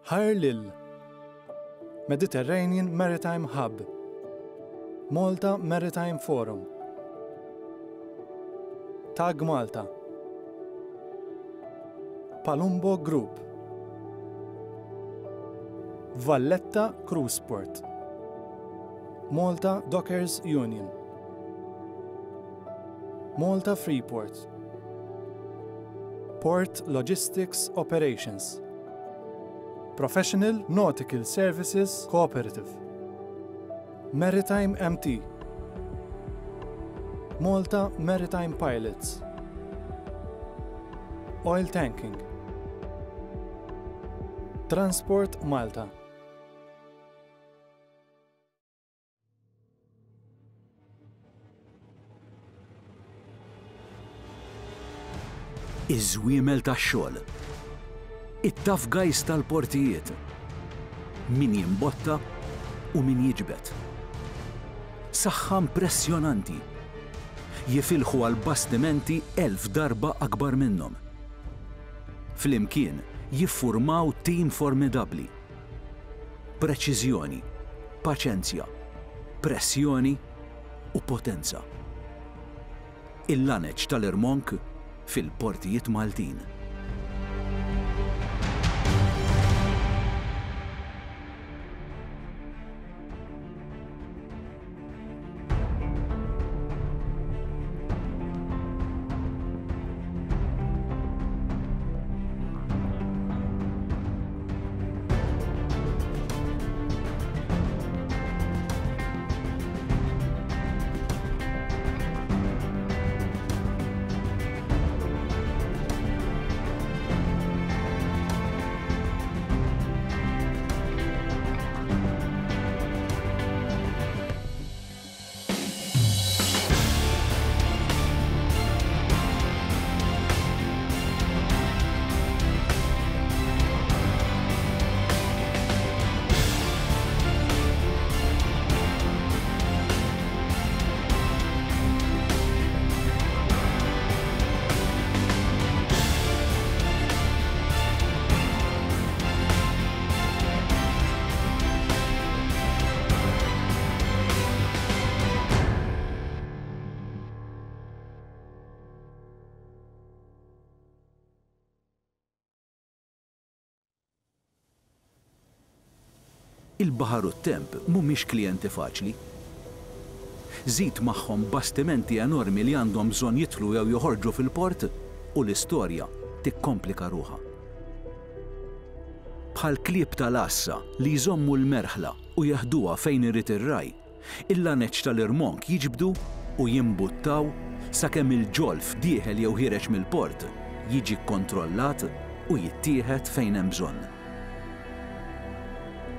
Ħajr lil Mediterranean Maritime Hub, Malta Maritime Forum, Tag Malta, Palumbo Group, Valletta Cruise Port, Malta Dockers Union, Malta Freeport, Port Logistics Operations, Professional Nautical Services Cooperative, Maritime MT, Malta Maritime Pilots, Oil Tanking, Transport Malta. Iż-żwiemel tax-xogħol. It-tough guys tal-portijiet. Min jimbotta u min jiġbed. Saħħa impressjonanti. Jifilħu għal bastimenti 1,000 darba akbar minnhom. Flimkien jiffurmaw tim formidabbli. Preċiżjoni, paċenzja, pressjoni u potenza. Il-laneċ tal-irmonk fil-portijiet Maltin. Il-baħar u t-temp mhumiex klijenti faċli. Żid magħhom bastimenti enormi li għandhom bżonn jidħlu jew joħorġu fil-port u l-istorja tikkomplika ruħha. Bħal klieb tal-għassa li jżommu l-merħla u jeħduha fejn irid ir-ragħaj, il-laneċ tal-irmonk jiġbdu u jimbuttaw sakemm il-ġolf dieħel jew ħiereġ mill-port jiġi kkontrollat u jittieħed fejn hemm bżonn.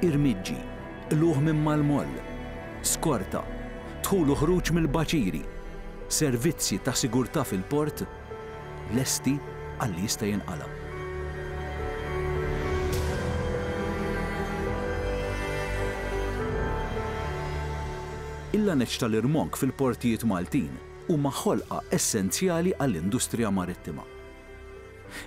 Irmiġġi, qlugħ minn mal-moll, skorta, dħul u ħruġ mill-baċiri, servizzi ta' sigurtà fil-port, lesti għal li jista' jinqala'. Il-laneċ tal-irmonk fil-portijiet Maltin huma ħolqa essenzjali għall-industrija marittima.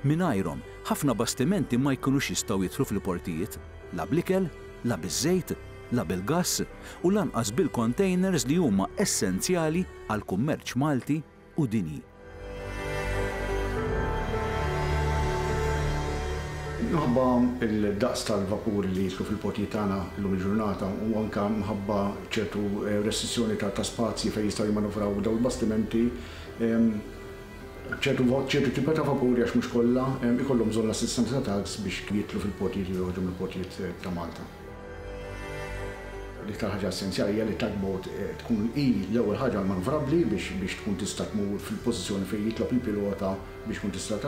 Mingħajrhom, ħafna bastimenti ma jkunux jistgħu jidħlu fil-portijiet, la bl-ikel, la biż-żejt, la bil-gass u lanqas bil-kontejners li huma essenzjali għall-kummerċ Malti u dinji. Minħabba l-daqs tal-vapuri li jidħlu fil-portijiet tagħna llum il-ġurnata u anke minħabba ċertu restrizzjoni ta' spazji fejn jistgħu jimmanuvraw dawn il-bastimenti, ċertu ċertu tipi ta' vapuri għax mhux kollha, ikollhom bżonn l-assistenza ta' tugs biex jidħlu fil-portijiet u joħorġu mill-portijiet ta' Malta. L-iktar ħaġa essenzjali hija li tugboat tkun hi l-ewwel ħaġa manuvrabbli biex biex tkun tista' tmur fil-pożizzjoni fejn jitlob il-pilota biex tkun tista'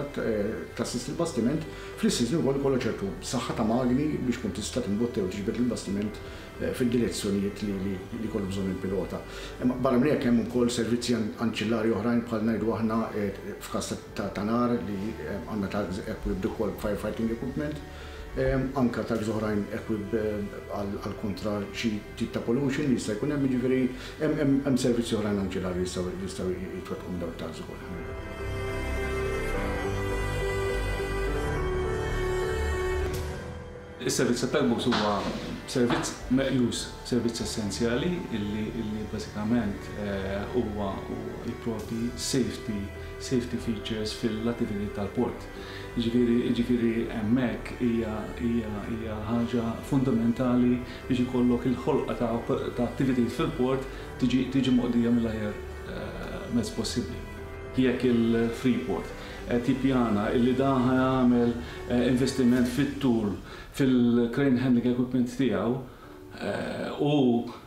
tassisti l-bastiment. Fl-istess ħin ukoll ikollha ċertu saħħa ta' magni biex tkun tista' timbotta jew tiġbed il-bastiment fid-direzzjonijiet li li jkollu bżonn il-pilota. Imma barra minn hekk hemm ukoll servizzi anċillari oħrajn bħal ngħidu aħna f'każ ta' nar li għandna tugs equipped ukoll b'firefighting equipment. Anke tags oħrajn equipped għal kontra xi tip ta' pollution li jista' jkun hemm, jiġifieri hemm servizzi oħrajn anċillari li jistgħu jitwettqu minn dawn it-tags ukoll. Is-servizz tat-tugboats huwa servizz meqjus servizz essenzjali illi illi bażikament huwa jipprovdi safety safety features fil-attivitajiet tal-port. Jiġifieri jiġifieri hemmhekk hija hija hija ħaġa fundamentali biex ikollok il-ħolqa ta' ta' attivitajiet fil-port tiġi tiġi moqdija mill-aħjar mezz possibbli. Jekk il-Freeport qed jippjana illi dan ħa jagħmel investiment fit-tul fil-crane handling equipment tiegħu u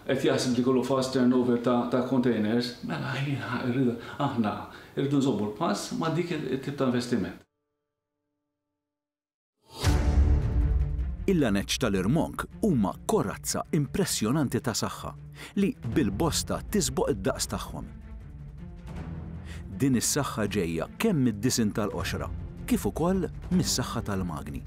qed jaħseb li jkollu fast turnover ta' containers, mela jiena rridu aħna rridu nżommu l-pass ma' dik it-tip ta' investiment. Il-laneċ tal-irmonk huma korazza impressjonanti ta' saħħa li bil-bosta tisboq id-daqs tagħhom. Din is-saħħa ġejja kemm mid-disinn tal-qoxra kif ukoll mis-saħħa tal-magni.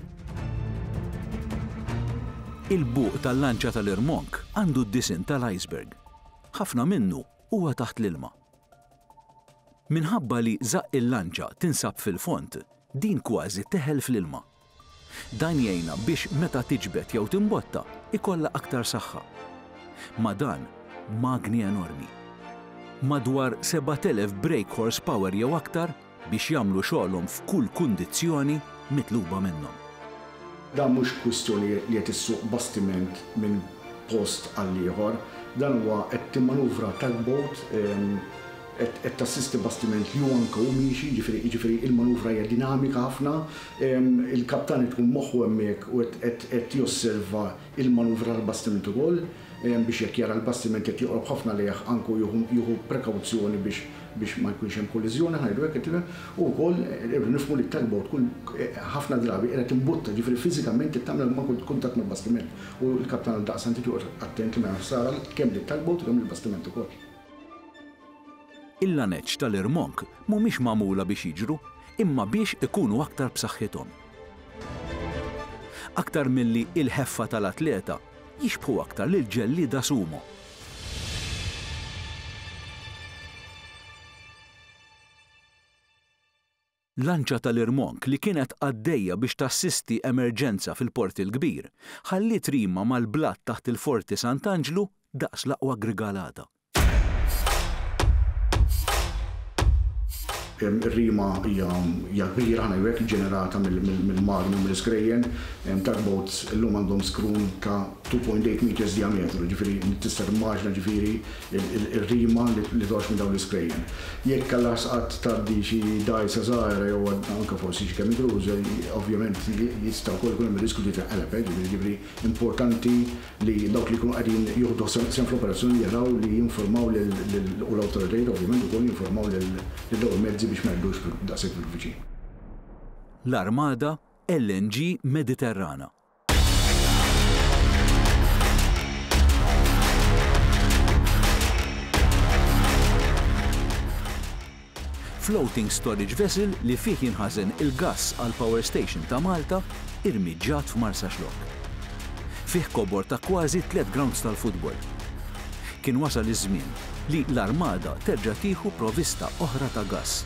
Il-buq tal-lanċa tal-irmonk għandu d-disinn tal-iceberg. Ħafna minnu huwa taħt l-ilma. Minħabba li żaqq il-lanċa tinsab fil-fond, din kważi teħel fl-ilma. Dan jgħinha biex meta tiġbed jew timbotta jkollha aktar saħħa. Ma' dan, magni enormi. Madwar 7,000 brake horsepower jew aktar biex jagħmlu xogħolhom f'kull kundizzjoni mitluba minnhom. Dan mhux kwistjoni li qed issuq bastiment minn post għal ieħor, dan huwa qed timmanuvra tugboat, qed tassisti bastiment li hu anke hu miexi, jiġifieri jiġifieri il-manuvra hija dinamika ħafna, il-kaptan irid ikun moħħu hemmhekk u qed qed josserva il-manuvra tal-bastiment ukoll biex jekk jara l-bastiment qed joqrob ħafna lejh anke hu jieħu jieħu prekawzjoni biex biex ma jkunx hemm kolliżjoni ħa ngħidu hekk qed tifhem, u wkoll irridu nifhmu li t-tugboat kull ħafna drabi qiegħda timbutta, jiġifieri fiżikament qed tagħmel kuntatt mal-bastiment u l-kaptan għaldaqstant irid joqgħod attent li ma jagħmilx ħsara kemm lit-tugboat u kemm lill-bastiment ukoll. Il-laneċ tal-irmonk mhumiex magħmula biex jiġru, imma biex ikunu aktar b'saħħithom. Aktar milli il-ħeffa tal-atleta, jixbħu aktar lil ġellieda sumo. Lanċa tal-irmonk li kienet għaddejja biex tassisti emerġenza fil-Port il-Kbir, ħalliet rima mal-blat taħt il-Forti Sant'Anġlu daqs l-aqwa grigalata. Ir-rima hija hija kbira, ħa ngħidu hekk, ġenerata mill-magni u mill-iskrejjen. Tugboats illum għandhom skrun ta' 2.8 meters diametru, jiġifieri tista' timmaġina ġifieri ir-rima li toħroġ minn dawn l-iskrejjen. Jekk għall-ars qatt tgħaddi xi dgħajsa żgħira jew anke forsi xi cabin cruiser, ovvjament jista' wkoll ikun hemm ir-riskju li tinqeleb, jiġifieri importanti li dawk li jkunu qegħdin jieħdu sehem fl-operazzjoni jaraw li jinfurmaw lil u l-awtoritajiet ovvjament ukoll jinfurmaw lil dawn il-mezzi biex ma jgħaddux daqshekk fil-viċin. L-Armada LNG Mediterrana. Floating storage vessel li fih jinħażen il-gass għall-power station ta' Malta irmiġġat f'Marsaxlokk. Fih kobor ta' kważi tlett grounds tal-futbol. Kien wasal iż-żmien li l-Armada terġa' tieħu provista oħra ta' gass.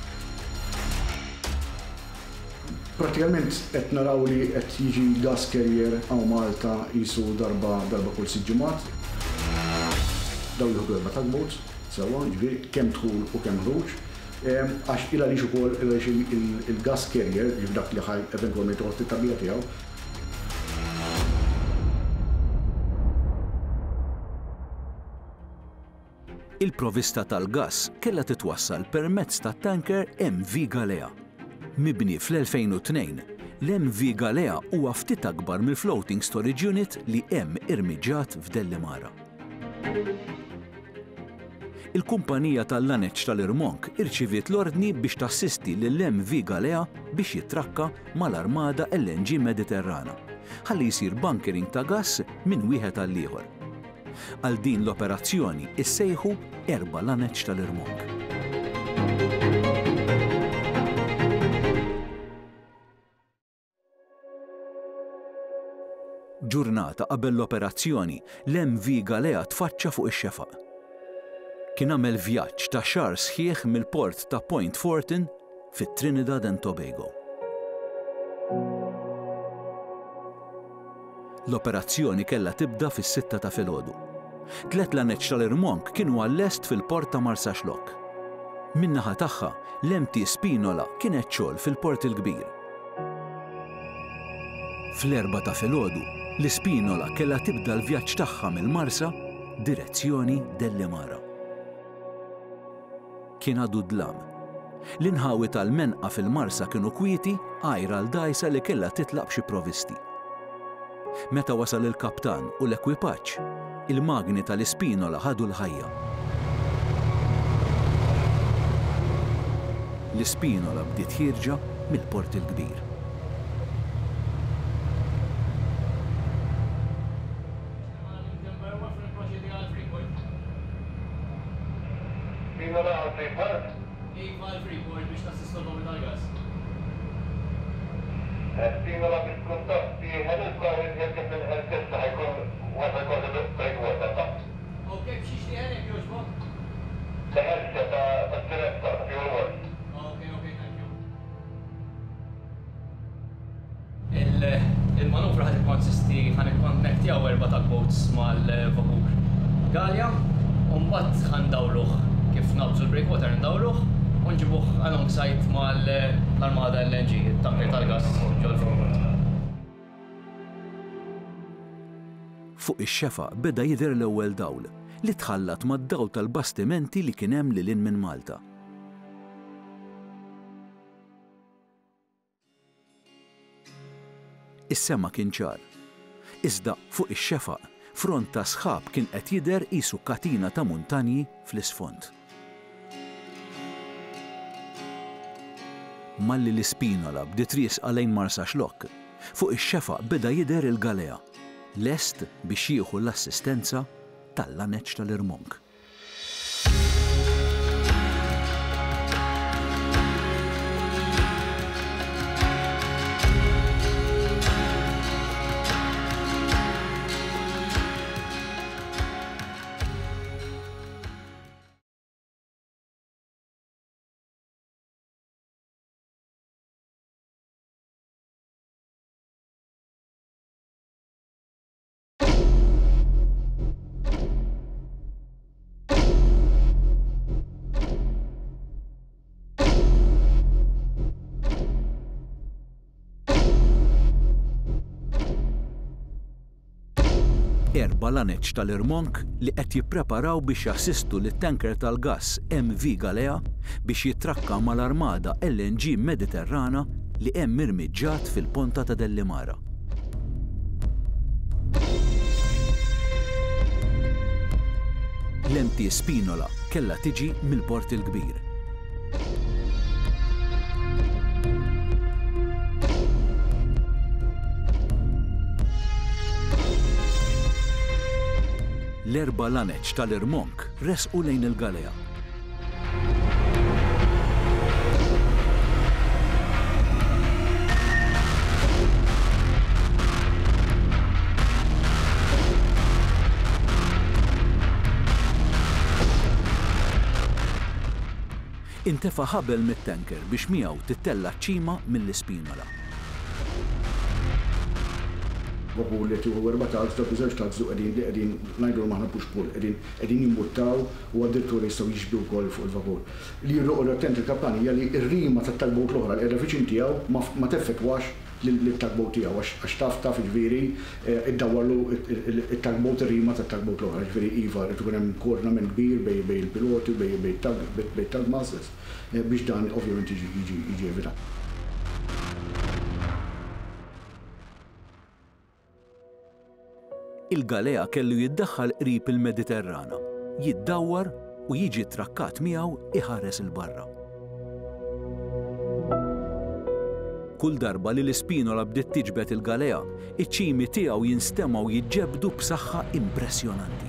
Prattikament qed naraw li qed jiġi gas carrier hawn Malta qisu darba darba kull sitt ġimgħat. Dawn jieħdu erba' tugboats sewwa, jiġifieri kemm dħul u kemm ħruġ. Għax il għaliex ukoll il għaliex il-gas carrier, jiġifieri dak li ħa eventwalment joħroġ fit-tagħbija tiegħu, Il-provista tal-gass kellha titwassal permezz tat-tanker MV Galea. Mibni fl-2002, l-MV Galea huwa ftit akbar mill-floating storage unit li hemm irmiġġat f'Dellimara. Il-kumpanija tal-laneċ tal-irmonk irċiviet l-ordni biex tassisti lill-MV Galea biex jitrakka mal-Armada LNG Mediterrana, ħalli jsir bunkering ta' gass minn wieħed għall-ieħor. Għal din l-operazzjoni issejħu erba' laneċ tal-irmonk. Ġurnata qabel l-operazzjoni, l-MV Galea tfaċċa fuq ix-xefaq. Kien għamel vjaġġ ta' xahar sħiħ mill-port ta' Point Fortin fi Trinidad and Tobago. L-operazzjoni kellha tibda fis-sitta ta' filgħodu. Tlett laneċ tal-irmonk kienu għal-lest fil-port ta' Marsaxlokk. Min-naħa tagħha, l-MT Spinola kienet xogħol fil-Port il-Kbir. Fl-erbgħa ta' filgħodu, l-Ispinola kellha tibda l-vjaġġ tagħha mill-Marsa direzzjoni Dellimara. Kien għadu d-dlam. L-inħawi tal-Menqa fil-Marsa kienu kwieti għajr għal dgħajsa li kellha titlaq b'xi provisti. Meta wasal il-kaptan u l-ekwipaġġ, il-magni tal-Ispinola ħadu l-ħajja. L-Ispinola bdiet ħierġa mill-Port il-Kbir. Il-manuvra ħa tikkonsisti ħa nikkonnektjaw erba' tugboats mal-vapur Galea u mbagħad ħa ndawruh kif naqbżu l-breakwater ndawruh u nġibuh alongside mal-armada LNG, it-tanker tal-gass ġol-Freeport. Fuq ix-xefaq beda jidher l-ewwel dawl, li tħallat mad-dawl tal-bastimenti li kien hemm lil hinn minn Malta. Is-sema kien ċar. Iżda fuq ix-xefaq, front ta' sħab kien qed jidher qisu katina ta' muntanji fl-isfond. Malli l-Ispinola bdiet riesqa lejn Marsaxlokk, fuq ix-xefaq beda jidher il-Galea, lest biex jieħu l-assistenza tal-laneċ tal-irmonk. Erba' laneċ tal-irmonk li qed jippreparaw biex jassistu lit-tanker tal-gass MV Galea biex jitrakka mal-armada LNG Mediterrana li hemm irmiġġat fil-Ponta ta' Dellimara. L-MT Spinola kellha tiġi mill-Port il-Kbir. L-erba' laneċ tal-irmonk resqu lejn il-Galea. Intefa' ħabel mit-tanker biex miegħu tittella' ċ-ċima mill-Ispinola. Vapur li qed jieħu erba' tugs, dawk iż-żewġ tugs li qegħdin li qegħdin ngħidulhom aħna push pull, qegħdin qegħdin jimbuttaw u addirittura jistgħu jixbdu wkoll fuq il-vapur. Li jrid joqgħod attent il-kaptan hija li r-rima tat-tugboat l-oħra li qiegħda viċin tiegħu ma ma teffettwax lit-tugboat tiegħu għax għax taf taf jiġifieri iddawwarlu it-tugboat ir-rima tat-tugboat l-oħra. Jiġifieri iva jrid ikun hemm koordinament kbir bejn bejn il-piloti u bejn bejn it-tug bejn it-tug masters biex dan ovvjament jiġi jiġi jiġi evitat. Il-Galea kellu jiddaħħal qrib il-Mediterrana, jiddawwar u jiġi ttrakkat miegħu iħares 'il barra. Kull darba li l-Ispinola bdiet tiġbed il-Galea, iċ-ċimi tiegħu jinstemgħu jiġġebbdu b'saħħa impressjonanti.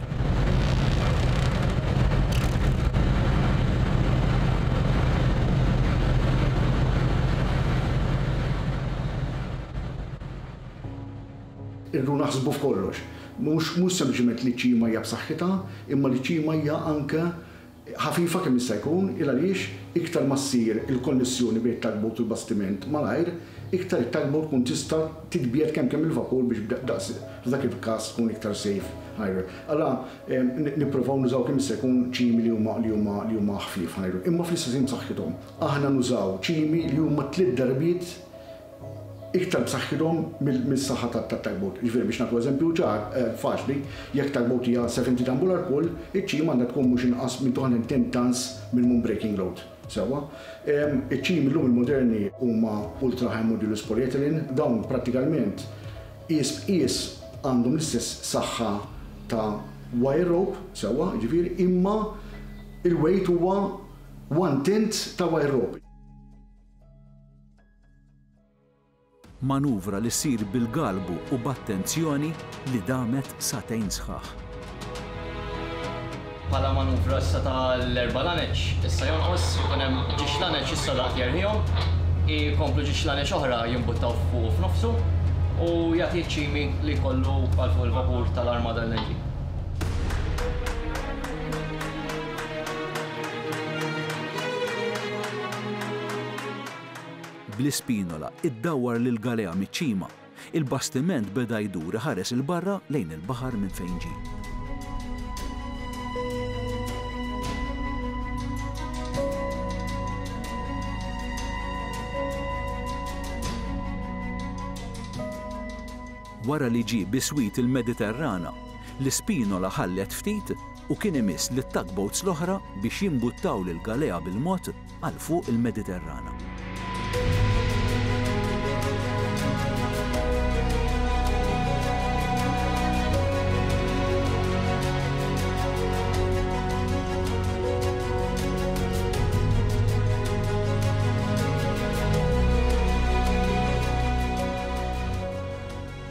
Irridu naħsbu f'kollox. Mhux mhux sempliċement li ċ-ċima hija b'saħħitha, imma li ċ-ċima hija anke ħafifa kemm jista' jkun, il għaliex iktar ma ssir il-konnessjoni bejn it-tugboat u l-bastiment malajr, iktar it-tugboat tkun tista' titbiegħed kemm kemm il-vapur biex daqs f'dak il-każ tkun iktar safe ħa Allura nipprovaw nużaw kemm jista' jkun ċimi li huma li huma li huma ħfief ħa ngħidu. Imma fl-istess ħin b'saħħithom. Aħna nużaw ċimi li huma tliet darbiet iktar b'saħħithom mis-saħħa tat-tugboat. Jiġifieri biex nagħtu eżempju ċar, faċli, jekk tugboat hija 70 ton bollard pull, iċ-ċima għandha tkun mhux inqas minn 210 tons minimum breaking load. Sewwa. Iċ-ċimi llum il-moderni huma ultra high modulus polyethylene, dawn prattikalment qies b'qies għandhom l-istess saħħa ta' wire rope, sewwa, jiġifieri, imma il-weight huwa one tenth ta' wire rope. Manuvra li ssir bil-galbu u b'attenzjoni li damet sagħtejn sħaħ. Bħala manuvra issa tal-erba' laneċ, issa jonqos, ikun hemm ġiex laneċ issa daqt jerħihom, ikomplu ġiex laneċ oħra jimbuttaw fuqu f'nofsu u jagħti ċ-ċimi li jkollu għal fuq il-vapur tal-Armada LNG. Bl-ispinola iddawwar lill-galea miċ-ċima, il-bastiment beda jdur iħares 'il barra lejn il-baħar minn fejn ġie. Wara li ġie biswit il-Mediterrana, l-ispinola ħallet ftit u kien imiss lit-tugboats l-oħra biex jimbuttaw lill-galea bil-mod għal fuq il-Mediterrana.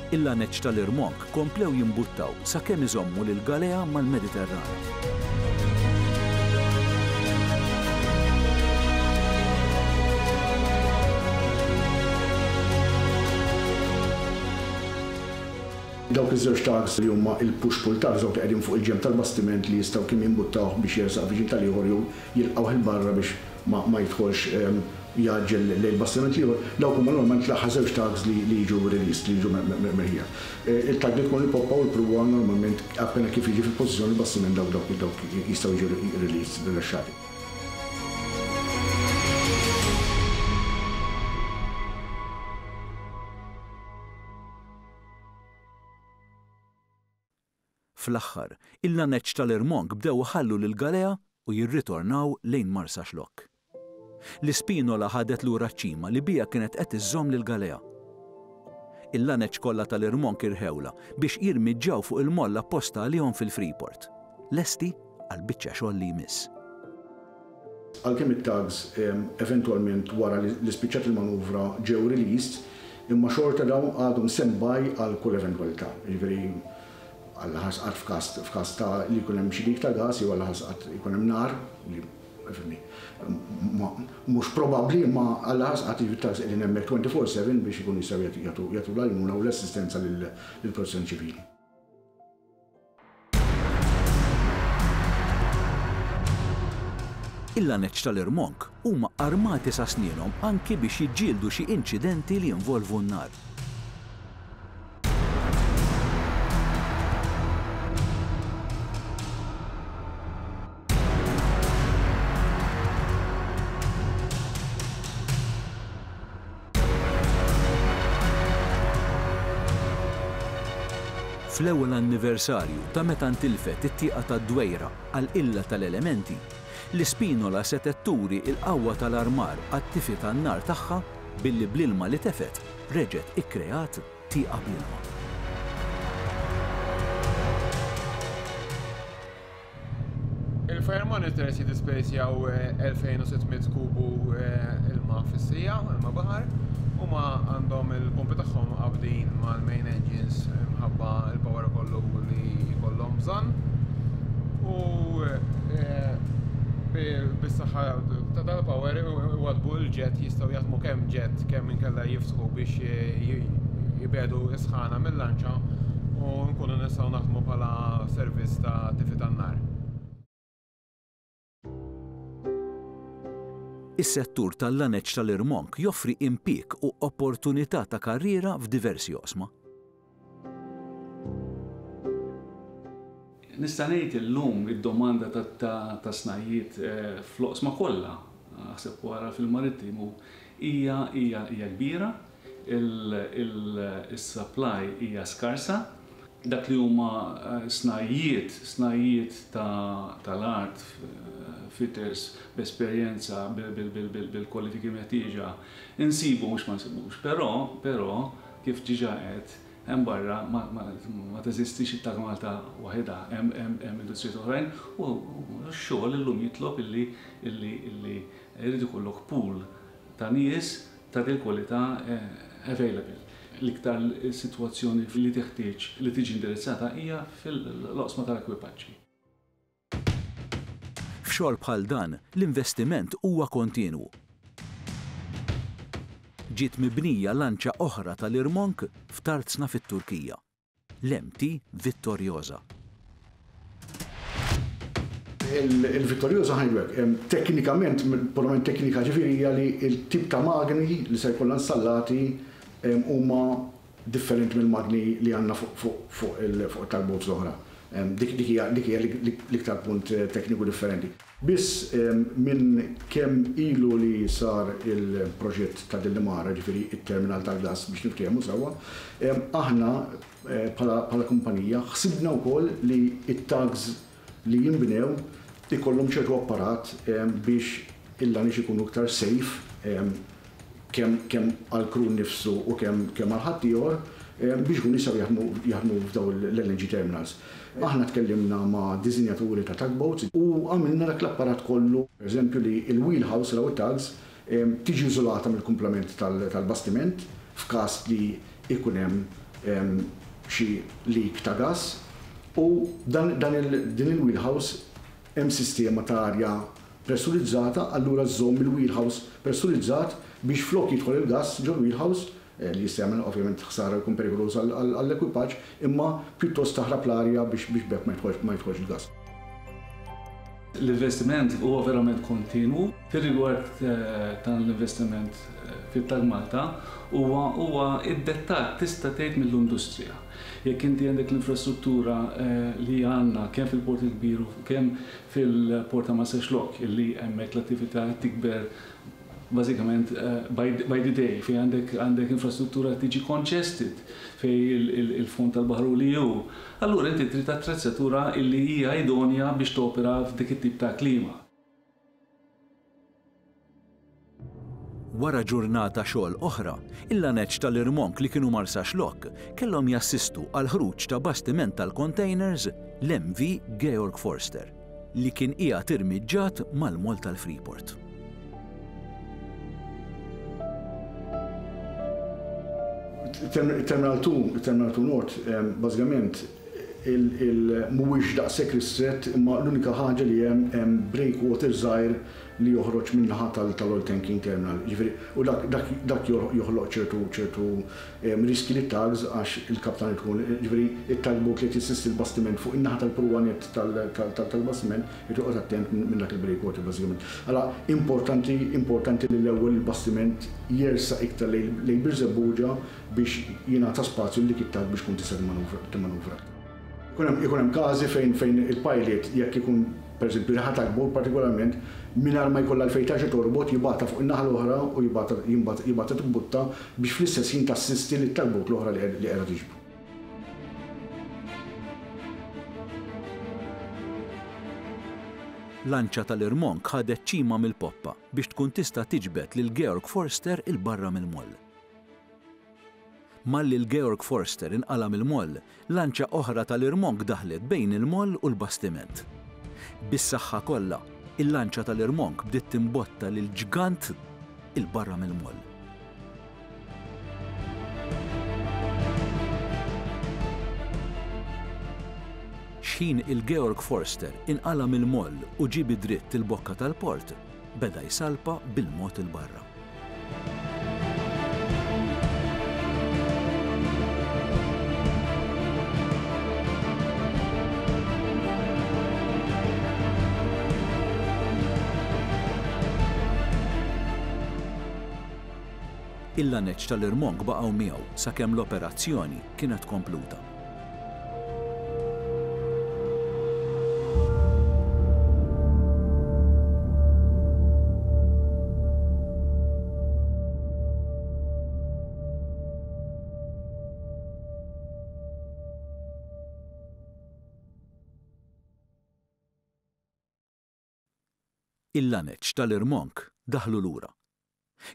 Il-laneċ tal-irmonk komplew jimbuttaw sakemm iżommu lill-galea mal-Mediterran. Dawk iż-żewġ tugs li huma il-push-pull tugs, dawk li qegħdin fuq il-ġenb tal-bastiment li jistgħu kemm jimbuttawh biex jersaq viċin tal-ieħor jew jilqgħuh 'il barra biex ma jidħolx jgħaġġel lejn il-bastiment l-ieħor, dawk huma normalment l-aħħar żewġ tugs li jiġu released, li jiġu merħija. Il-tug li tkun il-poppa u l-pruwa normalment appena kif jiġi fil-pożizzjoni l-bastiment dawk dawk dawk jistgħu jiġu released, rilaxxati. Fl-aħħar, il-laneċ tal-irmonk bdew iħallu lill-galea u jirritornaw lejn Marsaxlokk. L-ispinola ħadet lura ċ-ċima li biha kienet qed iżżomm lill-galea. Il-laneċ kollha tal-irmonk irħewlha biex jirmiġġaw fuq il-moll apposta għalihom fil-Freeport, lesti għall-biċċa xogħol li jmiss. Għalkemm it-tugs eventwalment wara li spiċċat il-manuvra ġew released, imma xorta dawn għadhom stand by għal kull eventwalità. Jiġifieri Alla ħares qatt f'każ f'każ ta' li jkun hemm xi dik ta' gas jew Alla ħares qatt ikun hemm nar, li fimni, mhux probabbli imma Alla ħares qatt jiġifieri tugs qegħdin hemmhekk 24/7 biex ikunu jistgħu jagħtu jagħtu l-għajnuna u l-assistenza lill-protezzjoni ċivili. Il-laneċ tal-irmonk huma armati sa snienhom anki biex jiġġieldu xi inċidenti li jinvolvu n-nar. Fl-ewwel anniversarju ta' meta ntilfet it-tieqa tad-Dwejra għall-qilla tal-elementi, l-Ispinola setgħet turi l-qawwa tal-armar għat-tifi tan-nar tagħha billi bl-ilma li tefgħet reġgħet ikkreat tieqa bl-ilma. Il-fire monitors jiddispensjaw 2600 kubu ilma fis-siegħa, ilma baħar. Huma għandhom il-pompi tagħhom qabdin mal-main engines minħabba l-power kollu li jkollhom bżonn. U bis-saħħa ta' dal-power iwaddbu l-jet, jistgħu jaħdmu kemm jet kemm inkella jiftħu biex jibegħdu s-sħana mil-lanċa u nkunu nistgħu naħdmu bħala servizz ta' tifi tan-nar. Is-settur tal-laneċ tal-irmonk joffri impieg u opportunità ta' karriera f'diversi oqsma. Nista' ngħid illum id-domanda ta' snajjiet fl-oqsma kollha, aħseb u ara fil-marittimu, hija hija hija kbira, is-supply hija skarsa. Dak li huma snajjiet, snajjiet tal-art, fitters b'esperjenza, bil-kwalifiki meħtieġa, insibu mhux ma nsibux. Però, però, kif diġà għedt, hemm barra ma teżistix it-Tag Malta waħidha, hemm industrijiet oħrajn u x-xogħol illum jitlob illi illi jrid ikollok pool ta' nies ta' dil-kwalità available. L-iktar sitwazzjoni li teħtieġ li tiġi indirizzata hija fil-oqsma tal-ekwipaġġi. F'xogħol bħal dan, l-investiment huwa kontinwu. Ġiet mibnija lanċa oħra tal-irmonk f'Tarzna fit-Turkija, l-MT Vittoriosa. Il-Vittoriosa ħa ngħidu hekk, teknikament, purament teknika ġifieri hija li l-tip ta' magni li se jkollha installati huma differenti mill-magni li għandna fuq il-tugboats l-oħra. Dik hija l-iktar punt tekniku differenti. Biss minn kemm ilu li sar il-proġett ta' Delimara, ġifieri t-terminal tal-gass biex niftehmu sewwa, aħna bħala kumpanija ħsibna wkoll li t-tugs li jinbnew ikollhom ċertu apparat biex il-laneċ ikunu iktar safe kemm kemm għall-crew nnifsu u kemm kemm għal ħaddieħor biex ikunu jistgħu jaħdmu jaħdmu f'dawn l-LNG terminals. Aħna tkellimna ma' disinjaturi ta' tugboats u għamilna dak l-apparat kollu, pereżempju li l-wheelhouse ta' dawn it-tugs tiġi iżolata mill-kumplament tal-bastiment f'każ li jkun hemm xi leak ta' gass u dan dan din il-wheelhouse hemm sistema ta' arja pressurizzata allura żżomm il-wheelhouse pressurizzat biex flok jidħol il-gass ġol-wheelhouse, li jista' jagħmel ovvjament ħsara u jkun perikoluż għall-ekwipaġġ, imma pjuttost taħrab l-arja biex b'hekk ma jidħolx il-gass. L-investiment huwa verament kontinwu. Fir-rigward tal-investiment fit-Tag Malta huwa huwa iddettat tista' tgħid mill-industrija. Jekk inti għandek l-infrastruttura li għandna kemm fil-Port il-Kbir u kemm fil-Port ta' Marsaxlokk illi hemmhekk l-attività qed tikber bażikament by the day fejn għandek għandek infrastruttura qed tiġi congested fejn il-fond tal-baħar hu li hu. Allura inti trid attrezzatura illi hija idonea biex topera f'dik it-tip ta' klima. Wara ġurnata xogħol oħra, il-laneċ tal-irmonk li kienu Marsaxlokk kellhom jassistu għall-ħruġ ta' bastiment tal-containers, l-MV Georg Forster, li kien qiegħed irmiġġat mal-moll tal-Freeport. Terminal 2, Terminal 2 North, bażikament mhuwiex daqshekk ristrett imma l-unika ħaġa li hemm hemm breakwater żgħir li joħroġ min-naħa tal-oil tanking terminal. Jiġifieri, u dak dak dak joħloq ċertu ċertu riskji lit-tugs għax il-kaptan irid ikun, jiġifieri it-tugboat li qed jissisti l-bastiment fuq in-naħa tal-pruwa nett tal-bastiment irid joqgħod attent minn dak il-breakwater bażikament. Allura importanti importanti li l-ewwel il-bastiment jersaq iktar lejn Birżebbuġa biex jingħata spazju lil dik it-tug biex tkun tista' timmanuvra. Ikun hemm ikun hemm każi fejn fejn il-pilot jekk ikun pereżempju riħa tugboat partikolarment mingħajr ma jkollha għalfejn terġa' torbot jibgħatha fuq in-naħa l-oħra u jibgħatha jibgħatha timbutta biex fl-istess ħin tassisti lit-tugboat l-oħra li li qiegħda tiġbru. Lanċa tal-irmonk ħadet ċima mill-poppa biex tkun tista' tiġbed lil Georg Forster 'il barra mill-moll. Malli l-Georg Forster inqala' mill-moll, lanċa oħra tal-irmonk daħlet bejn il-moll u l-bastiment. Bis-saħħa kollha, il-lanċa tal-irmonk bdiet timbotta lill-ġgant 'il barra mill-moll. Xħin il-Georg Forster inqala' mill-moll u ġie bi dritt il-bokka tal-port, beda jsalpa bil-mod 'il barra. Il-laneċ tal-irmonk baqgħu miegħu sakemm l-operazzjoni kienet kompluta. Il-laneċ tal-irmonk daħlu lura.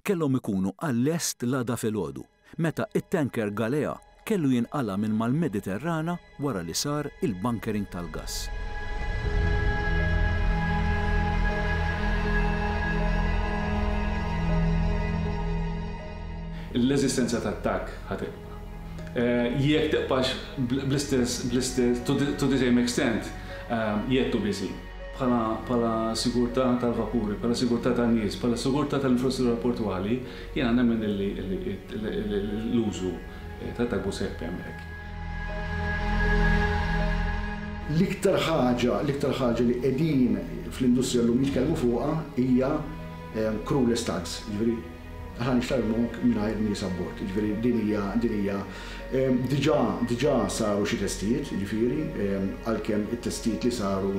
Kellhom ikunu għal-lest l-għada filgħodu, meta t-tanker Galea kellu jinqala' minn mal-Mediterrana wara li sar il-bunkering tal-gass. L-eżistenza tat-tag ħa tibqa'. Jekk tibqax bl-istess, bl-istess, to the same extent, yet to be seen. Bħala, bħala sigurtà tal-vapuri, bħala sigurtà tan-nies, bħala sigurtà tal-infrastruttura portwali, jiena nemmen illi l-użu tat-tagboat se jibqa' hemmhekk. L-iktar ħaġa, l-iktar ħaġa li qegħdin fl-industrija llum jitkellmu fuqha hija crewless tugs, jiġifieri Aħna nixtarru monk mingħajr nies abbord. Jiġifieri din hija din hija diġà diġà saru xi testijiet, jiġifieri għalkemm it-testijiet li saru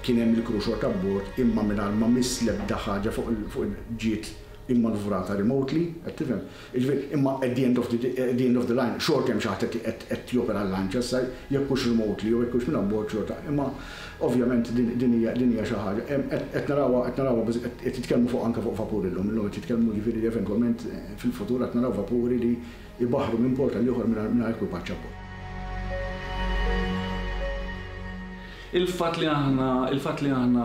kien hemm il-crew xorta abbord imma mingħajr ma miss l-ebda ħaġa fuq fuq ġiet immanuvrata remotely, qed tifhem? Jiġifieri imma at the end of the at the end of the line xorta hemm xi ħadd qed qed jopera l-lanċa issa jekk hux remotely jew jekk hux minn abbord xorta imma Ovvjament din hija din hija xi ħaġa qed narawha qed narawha qed jitkellmu fuq anke fuq vapuri llum. Illum qed jitkellmu jiġifieri li eventwalment fil-futur qed naraw vapuri li jbaħħru minn port għal ieħor mingħajr ekwipaġġ abbord. Il-fatt li aħna il-fatt li aħna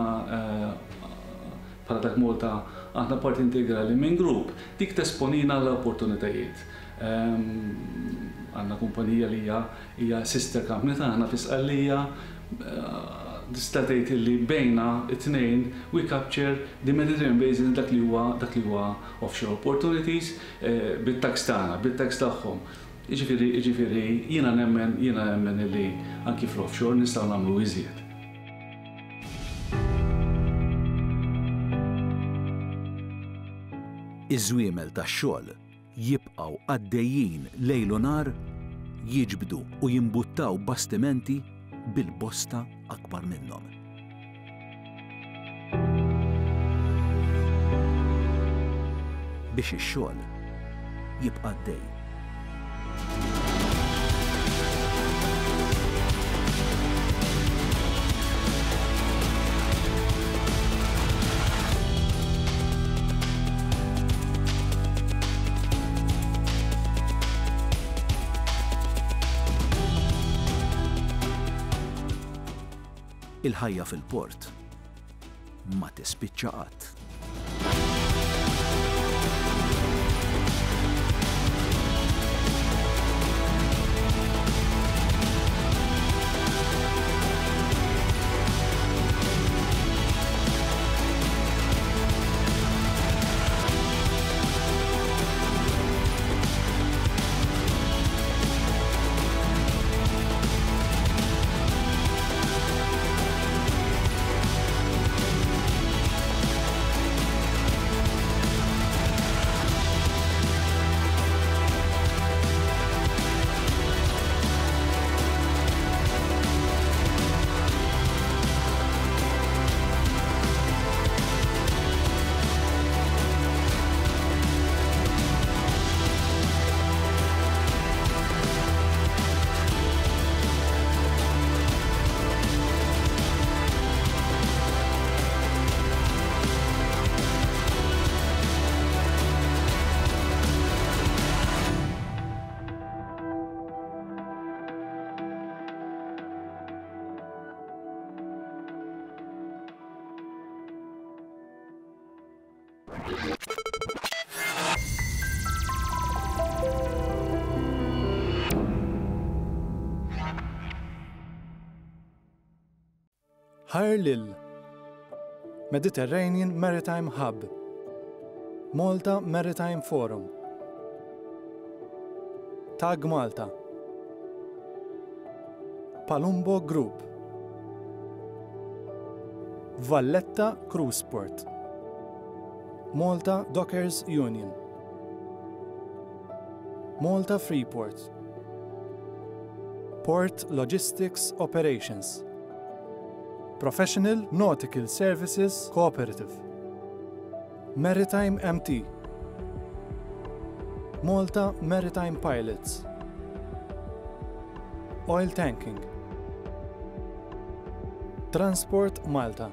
bħala Tag Malta aħna parti integrali minn grupp, dik tesponina għal opportunitajiet. Għandna kumpanija li hija Hija sister company tagħna fi Sqallija. Tista' tgħid illi bejna t-tnejn we capture the Mediterranean basin dak li huwa dak li huwa offshore opportunities bit-tags tagħna, bit-tags tagħhom. Jiġifieri jiġifieri jiena nemmen jiena nemmen illi anki fl-offshore nistgħu nagħmlu iżjed. Iż-żwiemel tax-xogħol jibqgħu għaddejjin lejl u nhar jiġbdu u jimbuttaw bastimenti bil-bosta akbar minnhom. Biex ix-xogħol jibqa' għaddej. Il-ħajja fil-port ma tispiċċa qatt. Ħajr lil Mediterranean Maritime Hub Malta Maritime Forum Tag Malta Palumbo Group Valletta Cruise Port Malta Dockers Union. Malta Freeport, Port Logistics Operations, Professional Nautical Services Cooperative, Maritime MT, Malta Maritime Pilots, Oil Tanking, Transport Malta.